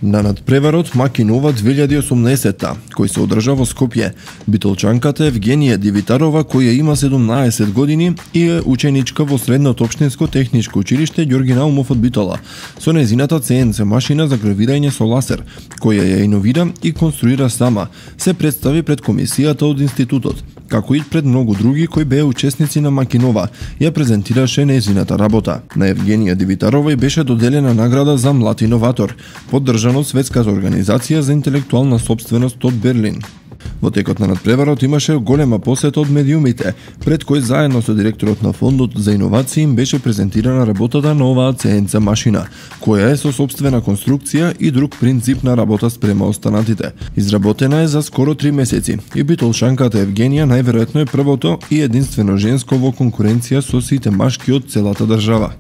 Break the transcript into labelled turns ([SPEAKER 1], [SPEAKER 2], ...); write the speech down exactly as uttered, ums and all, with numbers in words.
[SPEAKER 1] На надпреварот Макинова две илјади и осумнаесетта, кој се одржа во Скопје, битолчанката Евгенија Дивитарова, која има седумнаесет години и е ученичка во Средното општинско техничко училиште Ѓорги Наумов од Битола, со нејзината Це Ен Це машина за гравирање со ласер, која ја иновира и конструира сама, се представи пред комисијата од институтот, како и пред многу други кои беа учесници на Макинова, ја презентираше нејзината работа. На Евгенија Дивитарова и беше доделена награда за млад иноватор, поддржана од Светската организација за интелектуална сопственост од Берлин. Во текот на надпреварот имаше голема посета од медиумите, пред кој заедно со директорот на Фондот за иновации им беше презентирана работата на оваа Це Ен Це машина, која е со сопствена конструкција и друг принцип на работа спрема останатите. Изработена е за скоро три месеци и битолшанката Евгенија најверојатно е првото и единствено женско во конкуренција со сите машки од целата држава.